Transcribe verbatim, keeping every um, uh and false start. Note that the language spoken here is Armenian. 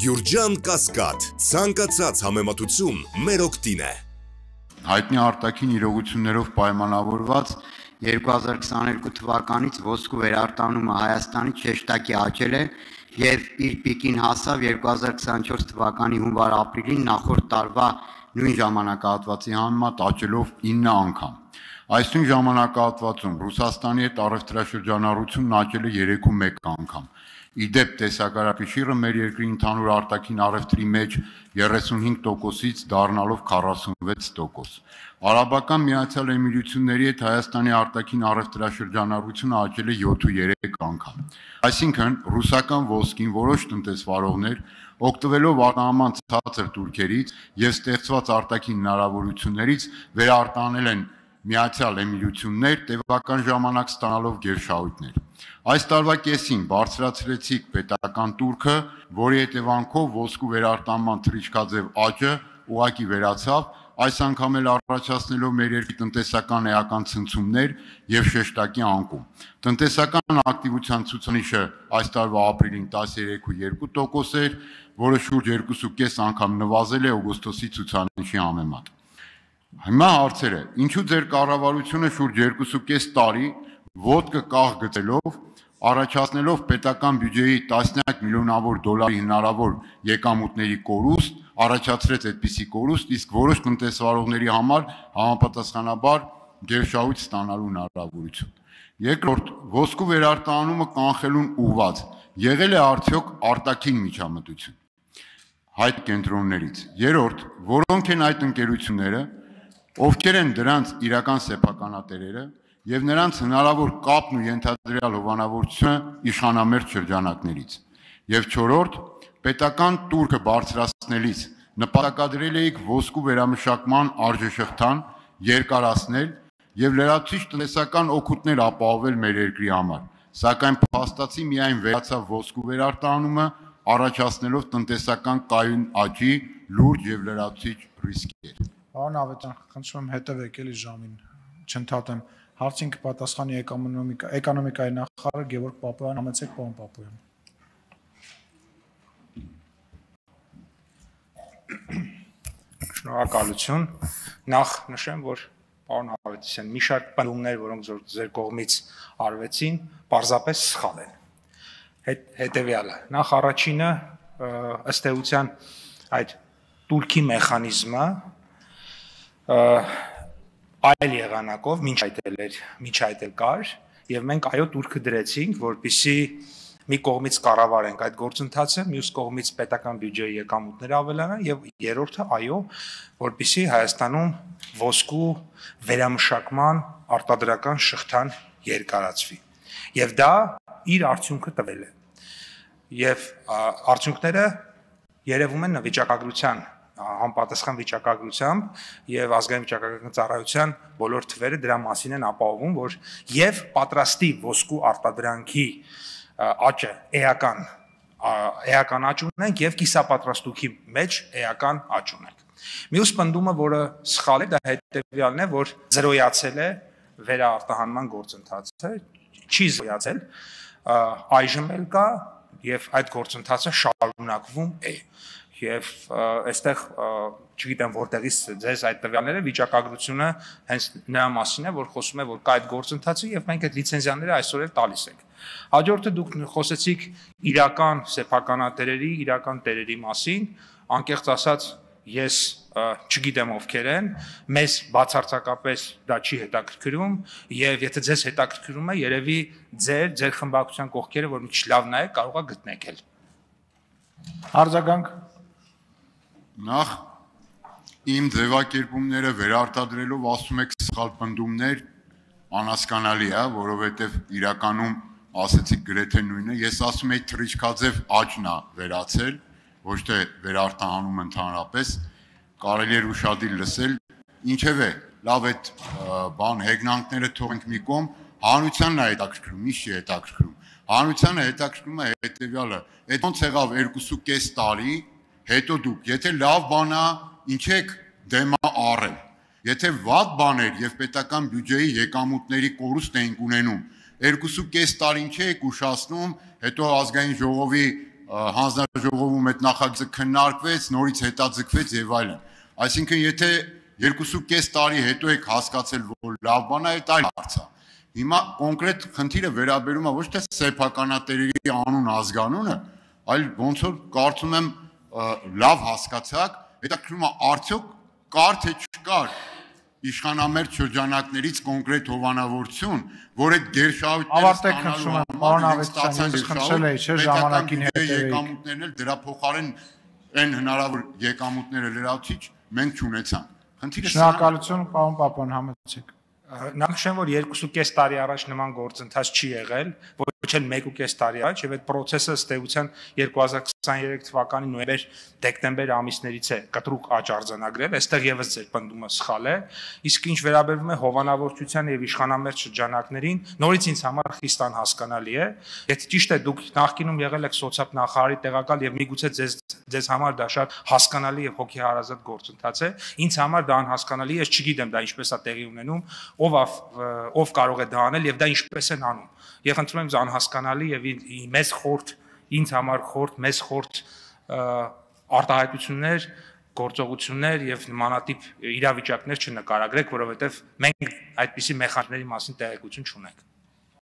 Գյուրջան Կասկադ, ցանկացած համեմատություն մեր օգտին է։ Հայտնի արտաքին իրողություններով պայմանավորված երկու հազար քսաներկու թվականից ոսկու վերարտանումը Հայաստանից շեշտակի աճել է եւ իր պիկին հասավ երկու հազար քսանչորս թվականի հունվար-ապրիլին նախորդ տարվա նույն ժամանակահատվածի համեմատ աճելով ինը անգամ։ Այս նույն ժամանակահատվածում Ռուսաստանի հետ առևտրաշրջանառությունն աճել է երեքու մեկ անգամ։ Իդեպ տեսակարակշիռը մեր երկրի ընդհանուր արտաքին առևտրի մեջ երեսունհինգ տոկոսից դառնալով քառասունվեց տոկոս։ Արաբական Միացյալ Էմիրությունների հետ Հայաստանի արտաքին առևտրաշրջանառությունը աճել է յոթ անգամ։ Այսինքն ռուսական ոսկին որոշ տնտեսվարողներ օգտվելով արտահանման ցածր տուրքերից եւ ստեղծված արտաքին հնարավորություններից վերարտանել են Միացյալ Էմիրություններ տևական ժամանակ ստանալով գերշահույթներ։ Այս տարվա կեսին բարձրացրեցիք պետական տուրքը, որի հետևանքով ոսկու վերարտանման թռիչքաձև աճը ուղղակի վերացավ, այս անգամ էլ առաջացնելով մեր երկրի տնտեսական էական ցնցումներ եւ շեշտակի անկում։ Տնտեսական ակտիվության ցուցանիշը այս տարվա ապրիլին տասներեք ու երկու տոկոս էր, որը շուրջ երկու կես անգամ նվազել է օգոստոսի ցուցանիշի համեմատ։ Հիմա հարցերը, ինչու ձեր կառավարությունը շուրջ երկու կես տարի ոտքը կաղ գցելով, առաջացնելով պետական բյուջեի տասնյակ միլիոնավոր դոլարի հնարավոր եկամուտների կորուստ, առաջացրեց այդպիսի կորուստ, իսկ որոշ տնտեսվարողների համար համապատասխանաբար գերշահույթ ստանալու հնարավորություն։ Երկրորդ, ոսկու վերարտանումը կանխելուն ուղղված եղել է արդյոք արտաքին միջամտություն հայտ կենտրոններից։ Երրորդ, որոնք են այդ ընկերությունները, ովքեր են դրանց իրական սեփականատերերը եւ նրանց հնարավոր կապն ու ենթադրյալ հովանավորությունը իշխանամերձ շրջանակներից։ Եվ չորրորդ, պետական տուրքը բարձրացնելիս նպատակադրել էիք ոսկու վերամշակման արժեշղթան երկարացնել եւ լրացուցիչ տնտեսական օգուտներ ապահովել մեր երկրի համար, սակայն փաստացի միայն վերացավ ոսկու վերարտանումը, առաջացնելով տնտեսական կայուն աճի լուրջ եւ լրացուցիչ ռիսկեր։ Պարոն Ավետարան, խնդրում եմ հետևեք էլի ժամին, չընդհատեմ։ Հարցին կպատասխանի էկոնոմիկա, էկոնոմիկայի նախարար Գևորգ Պապոյան, համեցեք պարոն Պապոյան։ Շնորհակալություն։ Նախ նշեմ, որ պարոն Ավետիսյան, մի շարք պնդումներ, որոնք ձեր կողմից արվեցին, պարզապես սխալ են։ Հետևյալը, նախ առաջինը ըստ էության այդ տուրքի մեխանիզմը այլ եղանակով մինչ այդել էր, մինչ այդել կար, եւ մենք այո տուրքը դրեցինք, որպեսզի մի կողմից կառավարենք այդ գործընթացը, մյուս կողմից պետական բյուջեի եկամուտները ավելանան եւ երրորդը այո, որպեսզի Հայաստանում ոսկու վերամշակման արտադրական շղթան երկարացվի։ Եվ դա իր արդյունքը տվել է։ Եվ արդյունքները երևում են վիճակագրության համապատասխան վիճակագրությամբ եւ ազգային վիճակագրական ծառայության բոլոր թվերը դրա մասին են ապահովում, որ եւ պատրաստի ոսկու արտադրանքի աճը էական էական աճ ունենք եւ կիսապատրաստուքի մեջ էական աճ ունենք։ Մյուս պնդումը, որը սխալ է, դա հետեւյալն է, որ զրոյացել է վերաարտահանման գործընթացը, չի զրոյացել, այժմ էլ կա եւ այդ գործընթացը շարունակվում է։ Եվ այստեղ չգիտեմ որտեղից ձեզ այդ տվյալները վիճակագրությունը հենց նրա մասին է, որ խոսում է, որ կա այդ գործընթացը եւ մենք այդ լիցենզիաները այսօր էլ տալիս ենք։ Հաջորդը դուք խոսեցիք իրական սեփականատերերի, իրական տերերի մասին, անկեղծ ասած ես չգիտեմ ովքեր են, մեզ բացարձակապես դա չի հետաքրքրում եւ եթե ձեզ հետաքրքրում է, երևի ձեր ձեր խմբակցության կողքերը, որ մի քիչ լավ նայեք, կարող է գտնեք էլ։ Արձագանք Նախ իմ ձևակերպումները վերարտադրելով ասում եք սխալ պնդումներ, անհասկանալի է, որովհետև իրականում ասեցիք գրեթե նույնը, ես ասում եի թռիչքաձև աճն է վերացել, ոչ թե վերարտահանում ընդհանրապես, կարելի էր ուշադիր լսել, ինչևէ, լավ այդ բան հեգնանքները թողենք մի կողմ, հանրությանն է հետաքրքրում, ինչ չի հետաքրքրում։ Հանրությանը հետաքրքրում է հետևյալը, այդ ոնց եղավ երկու կես տարի հետո դուք, եթե լավ բան է, ինչ եք դեմա առել, եթե վատ բան էր եւ պետական բյուջեի եկամուտների կորուստ էինք ունենում, երկու կես տարի ինչ եք ուշացնում, հետո ազգային ժողովի հանձնաժողովում այդ նախագիծը քննարկվեց, նորից հետաձգվեց եւ այլն։ Այսինքն, եթե երկուսուկես տարի հետո եք հասկացել, որ լավ բան է, այդ այլ հարց է։ Հիմա կոնկրետ խնդիրը վերաբերում է ոչ թե սեփականատերերի անուն ազգանունը, այլ ոնց որ կարծում եմ լավ հասկացաք, հետաքրքրում է արդյոք կար թե չկար իշխանամերձ շրջանակներից կոնկրետ հովանավորություն, որ այդ գերշահույթները եկամուտներն էլ դրա փոխարեն այն հնարավոր եկամուտները լրացիչ մենք չունեցանք։ Շնորհակալություն, պարոն Պապյան, համեցեք։ Նախշեմ, որ երկուսուկես տարի առաջ նման գործընթաց չի եղել, ոչ էլ մեկուկես տարի առաջ, եւ այդ process-ը ըստ էության երկու հազար քսաներեք թվականի նոյեմբեր-դեկտեմբեր ամիսներից է կտրուկ աճ արձանագրել, այստեղ եւս ձեր պնդումը սխալ է, իսկ ինչ վերաբերվում է հովանավորչության եւ իշխանամերձ շրջանակներին, նորից ինձ համար խիստ անհասկանալի է, եթե ճիշտ է դուք նախկինում եղել եք սոցիալ նախարարի տեղակալ եւ միգուցե ձեզ ձեզ համար դա շատ հասկանալի եւ հոգեհարազատ գործընթաց է, ինձ համար դա անհասկանալի է, ես չգիտեմ դա ինչպես է տեղի ունենում, ով ով կարող է դա անել եւ դա ինչպես են անում։ Եվ խնդրում եմ անհասկանալի եւ մեծ խորտ, ինձ համար խորտ, մեծ խորտ արտահայտություններ, գործողություններ եւ նմանատիպ իրավիճակներ չնկարագրեք, որովհետեւ մենք այդպիսի մեխանիզմների մասին տեղեկություն չունենք։